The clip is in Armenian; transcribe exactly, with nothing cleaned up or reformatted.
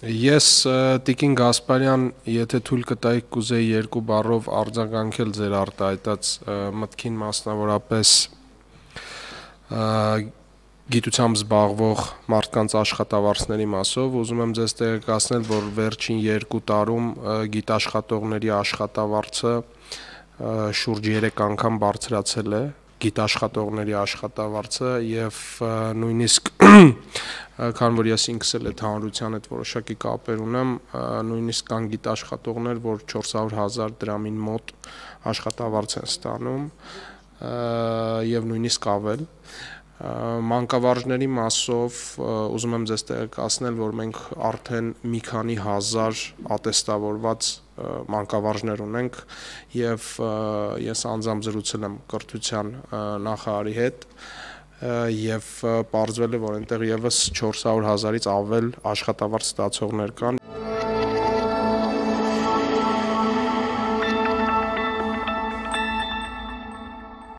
Ես Տիկին Գասպարյան, եթե թույլ կտայիք կուզեի երկու բառով արձագանքել ձեր արտահայտած մտքին, մասնավորապես գիտությամբ զբաղվող մարդկանց աշխատավարձների մասով, ուզում եմ ձեզ տեղեկացնել, որ վերջին երկու տարում գիտաշխատողների աշխատավարձը շուրջ երեք անգամ բարձրացել է, գիտաշխատողների աշխատավարձը եւ նույնիսկ քան որ ես ինքս էլ այդ հանրության հետ որոշակի կապեր ունեմ, նույնիսկ կան գիտաշխատողներ, որ չորս հարյուր հազար դրամին մոտ աշխատավարձ են ստանում եւ նույնիսկ ավել։ Մանկավարժների մասով ուզում եմ ձեզ տեղեկացնել, որ մենք արդեն մի քանի հազար ատեստավորված մանկավարժներ ունենք եւ ես անձամբ զրուցել եմ կրթության նախարարի հետ եւ պարզվել է, որ այնտեղ եւս չորս հարյուր հազարից ավել աշխատավարձ ստացողներ կան։